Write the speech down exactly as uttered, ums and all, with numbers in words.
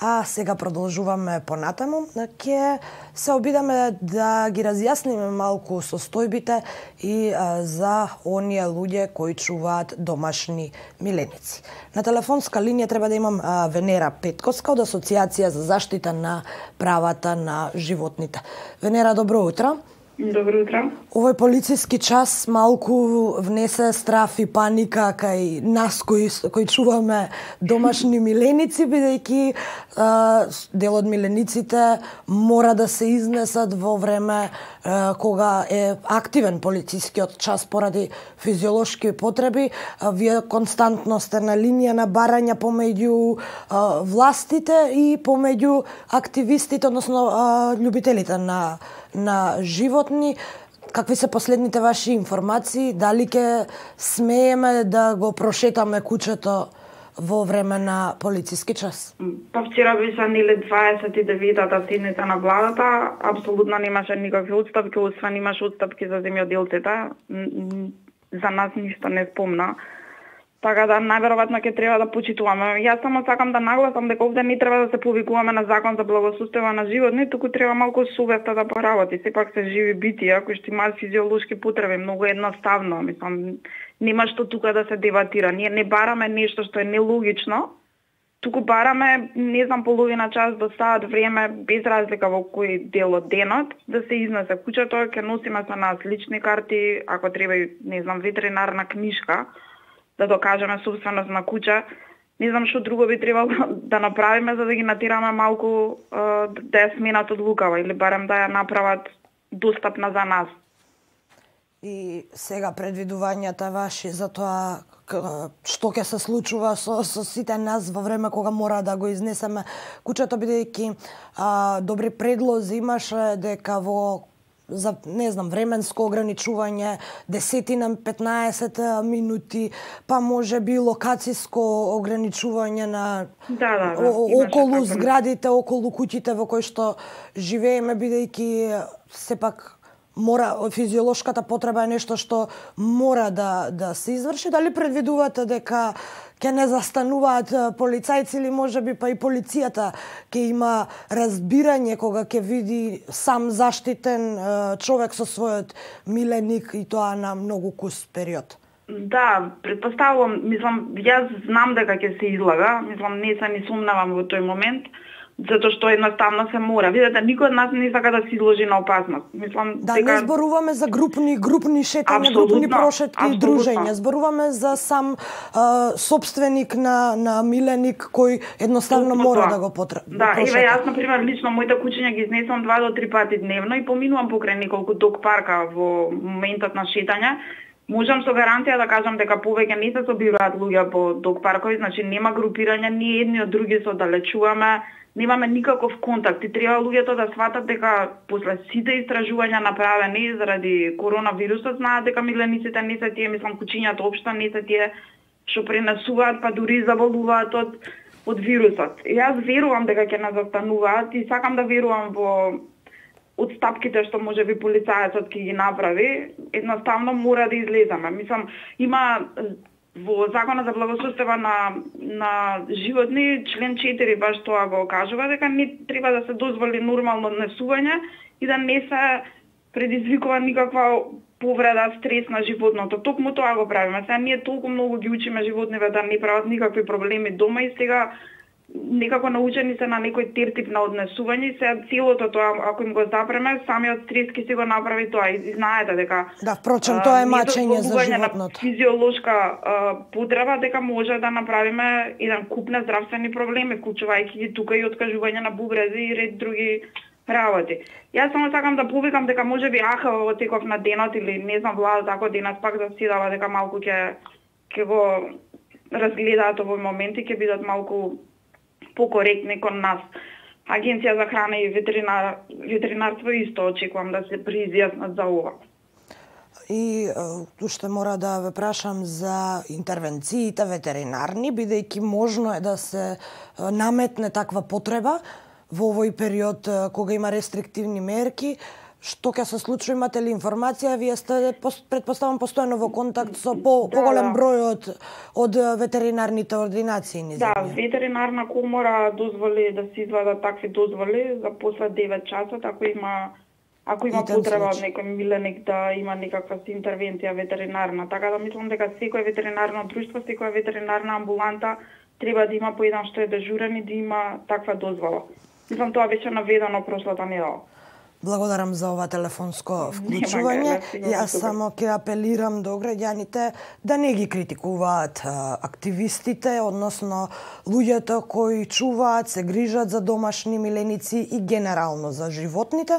А сега продолжуваме понатаму. Ќе се обидаме да ги разјасниме малку состојбите и а, за оние луѓе кои чуваат домашни миленици. На телефонска линија треба да имам а, Венера Петковска од Асоциација за заштита на правата на животните. Венера, добро утро. Добро утро. Овој полициски час малку внесе страф и паника кај нас кои, кои чуваме домашни миленици, бидејќи дел од милениците мора да се изнесат во време а, кога е активен полицискиот час поради физиолошки потреби. А, вие константно сте на линија на барања помеѓу а, властите и помеѓу активистите, односно а, љубителите на на животни. Какви се последните ваши информации? Дали ќе смееме да го прошетаме кучето во време на полициски час? Па вчера беше нели дваесет и деветата седница на владата, апсолутно немаше никакви отстапки, освен имаше отстапки за земјоделците. За нас ништо не спомна. Така да најверојатно ќе треба да почитуваме. Јас само сакам да нагласам дека овде не треба да се повикуваме на закон за благосостојба на животни, туку треба малку совеста да поработи. Сепак се живи битија кои што имаат физиолошки потреби, многу едноставно, мислам, нема што тука да се дебатира. Ние не бараме нешто што е нелогично, туку бараме, не знам, половина час до саат време, без разлика во кој дел од денот, да се изнесе кучето, ќе носиме со нас лични карти, ако треба и, не знам, ветеринарна книшка, да докажеме собственост на куча. Не знам што друго би требало да направиме за да ги натираме малку да ја сменат одлукава или барем да ја направат достапна за нас. И сега предвидувањата ваши за тоа што ќе се случува со, со сите нас во време кога мора да го изнесеме кучето, бидејќи добри предлози имаше дека во за, не знам, временско ограничување, десетина, петнаесет минути, па може би локациско ограничување на да, да, да, о, околу зградите, околу куќите во кои што живееме, бидејќи сепак мора, физиолошката потреба е нешто што мора да, да се изврши. Дали предвидувате дека ќе не застануваат полицајци или можеби па и полицијата ќе има разбирање кога ќе види сам заштитен човек со својот миленик и тоа на многу кус период? Да, претпоставувам, мислам, јас знам дека ќе се излага, мислам, не се ни сумнавам во тој момент, затоа што едноставно се мора. Видете, никој од нас не сака да се изложи на опасност. Мислам, да, дека... не зборуваме за групни групни шетања, групни прошетки и дружења. Зборуваме за сам а, собственик на на миленик кој едноставно Тутно мора тоа. да го потреба. Да, еве јас на пример лично моите кучиња ги изнесувам два до три пати дневно и поминувам покрај неколку дог парка во моментот на шетање. Можам со гаранција да кажам дека повеќе не се собираат луѓе по дог паркови, значи нема групирање, ние едни од други се оддалечуваме, немаме никаков контакт и треба луѓето да сватат дека после сите истражувања направени заради коронавирусот знаат дека милениците не се тие, мислам, кучињата општо не се тие што пренесуваат, па дури заболуваат од од вирусот. И јас верувам дека ќе нас застануваат и сакам да верувам во отстапките што може би полицајецот ќе ги направи. Едноставно мора да излеземе. Мислам, има во Законот за благосостојба на на животни, член четири баш тоа го кажува дека не треба да се дозволи нормално однесување и да не се предизвикува никаква повреда, стрес на животното. Токму тоа го правиме. Сега ние толку многу ги учиме животниве да не прават никакви проблеми дома и сега некако научени се на некој тертип на однесување, се целото тоа, ако им го запреме, самиот стрес ќе се го направи тоа. И знаете дека... Да, впрочем, тоа е мачење за животното. Физиолошка а, потреба дека може да направиме еден куп на здравствени проблеми, вклучувајќи ги тука и откажување на бубрези и ред други работи. Јас само сакам да повикам дека може би аха во теков на денот или не знам владата ако денес пак да си дава дека малку ќе ќе го разгледаат овој момент и ќе бидат малку покоректни кон нас. Агенција за храна и ветеринар, ветеринарство исто очекувам да се приизјаснат за ова. И уште мора да ве прашам за интервенциите ветеринарни, бидејќи можно е да се наметне таква потреба во овој период кога има рестриктивни мерки, што ќе се случи, имате ли информација? Вие сте, предпоставам, постојано во контакт со по, да, поголем да. број од, од ветеринарните ординации низ Да, ветеринарна комора дозволи да се извадат такви дозволи за после девет часот, ако има ако има потреба од некој миленик да има некаква интервенција ветеринарна. Така да мислам дека секој ветеринарно друштво, секоја ветеринарна амбуланта треба да има по еден што е дежурен и да има таква дозвола. Мислам, тоа беше наведено прошлата недела. Благодарам за ова телефонско вклучување. Јас само ќе апелирам до граѓаните да не ги критикуваат активистите, односно луѓето кои чуваат, се грижат за домашни миленици и генерално за животните,